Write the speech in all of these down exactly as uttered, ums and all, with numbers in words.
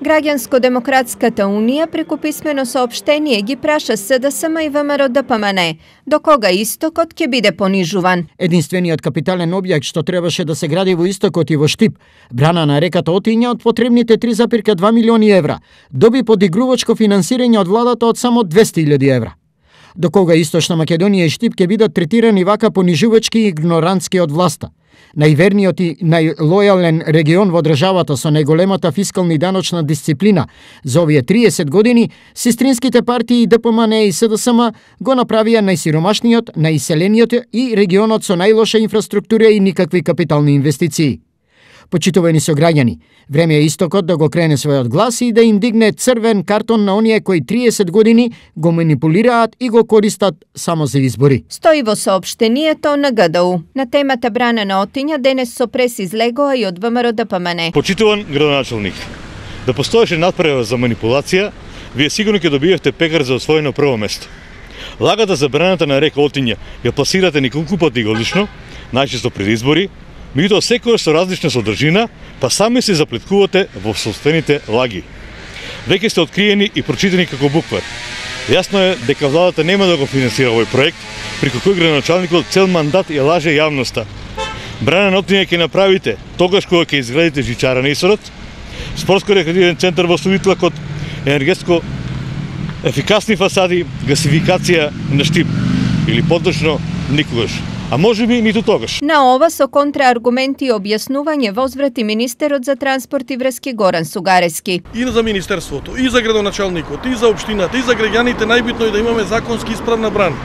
Граѓанско-демократската унија преку писмено соопштение ги праша СДСМ и ВМРО ДПМН до кога истокот ќе биде понижуван. Единствениот капитален објект што требаше да се гради во истокот и во Штип, брана на реката Отиња од потребните три запирка два милиони евра, доби подигрувачко финансирање од владата од само двесте илјади евра. До кога Источна Македонија и Штип ќе бидат третирани вака понижувачки и игнорантски од власта? Најверниот и најлојален регион во државата со најголемата фискална и даночна дисциплина за овие триесет години, сестринските партии ДПМН и СДСМ го направија најсиромашниот, најиселениот и регионот со најлоша инфраструктура и никакви капитални инвестиции. Почитувани сограѓани, време е истокот да го крене својот глас и да им дигне црвен картон на оние кои триесет години го манипулираат и го користат само за избори. Стои во соопштението на ГДУ. На темата брана на Отиња денес со прес излегоа и од ВМРО ДПМН. Почитуван градоначалник, да постоеше надпревар за манипулација, вие сигурно ќе добиевте пекар за освоено прво место. Лагата за браната на река Отиња ја пласирате неколку пати годишно, најчесто пред избори, меѓутоа секојаш со различна содржина, па сами се заплеткувате во собствените лаги. Веќе сте откриени и прочитани како буквар. Јасно е дека владата нема да го финансира овој проект, преку кој градоначалникот цел мандат ја лаже јавноста. Брана на Отиња ќе направите тогаш кога ќе изградите жичара на Исорот, спортско-рекреативен центар во Сувитлакот, енергетско ефикасни фасади, гасификација на Штип или поточно никогаш. А може би ниту тогаш. На ова со контрааргументи и објаснување возврати министерот за транспорт и врски Горан Сугарески. И за министерството, и за градоначалникот, и за општината, и за граѓаните најбитно е да имаме законски исправна брана.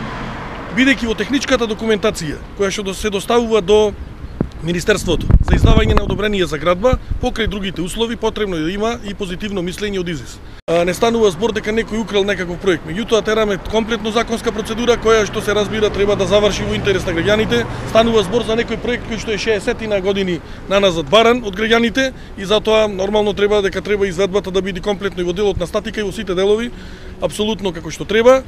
Бидејќи во техничката документација која што се доставува до Министерството за издавање на одобрение за градба, покрај другите услови потребно е да има и позитивно мислење од ИЗИС. Не станува збор дека некој украл некаков проект, меѓутоа тераме комплетно законска процедура која што се разбира треба да заврши во интерес на граѓаните. Станува збор за некој проект кој што е шеесет години наназад баран од граѓаните и затоа нормално треба дека треба изведбата да биде комплетно и во делот на статика и во сите делови, апсолутно како што треба.